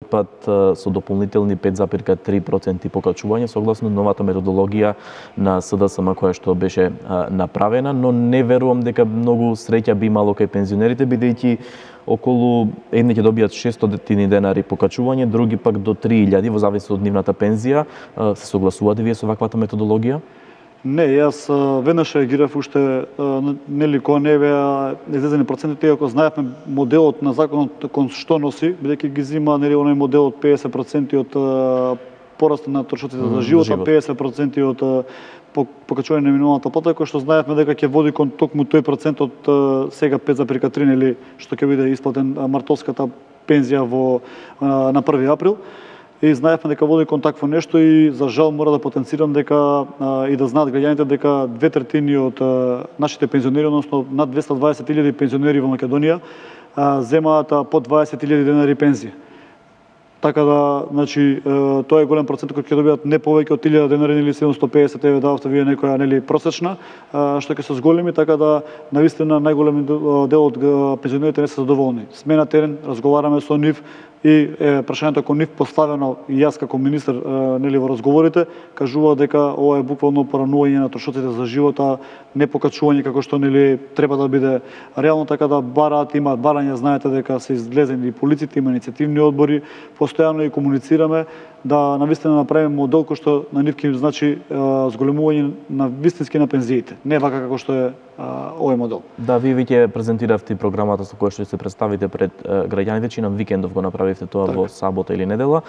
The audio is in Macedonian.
пат со дополнителни 5,3% покачување согласно новата методологија на СДСМ која што беше направена, но не верувам дека многу среќа би имало кај пензионерите, бидејќи околу едни ќе добијат 600 денари покачување, други пак до 3000 во зависност од нивната пензија. Се согласувате вие со ваквата методологија? Не, јас веднаш реагирав уште нели кога не беа излезени процентите, иако знаевме моделот на законот кон што носи, бидејќи ги зима нели оној модел од 50% од пораста на трошоците за живот, 50% од покачување на минималната плата, кој што знаевме дека ќе води кон токму тој процент од сега 5,3 нели што ќе биде исплатен мартовската пензија на 1 април. И знаевме дека води кон такво нешто и за жал мора да потенцирам дека и да знаат граѓаните дека 2/3 од нашите пензионери, односно над 220.000 пензионери во Македонија земаат по 20.000 денари пензија. Така да, значи, тоа е голем процент кој ќе добијат не повеќе од 1000 денари или 750 еве дававте вие некоја нели просечна, што ќе се зголеми, така да навистина најголем дел од пензионерите не се задоволни. Сме на терен, разговараме со нив и прашањето кон нив поставено и јас како министер нели во разговорите кажува дека ова е буквално поранување на трошоците за живота, не покачување како што нели треба да биде реално, така да имаат барања, знаете дека се излезени и полиците, има иницијативни одбори, постојано и комуницираме да навистина направиме модел кој што на нив ќе значи зголемување на вистински на пензиите, не вака како што е овој модел. Да, вие веќе презентиравте програмата со која што се представите пред граѓаните, чинам викендов го направивте тоа во сабота или недела.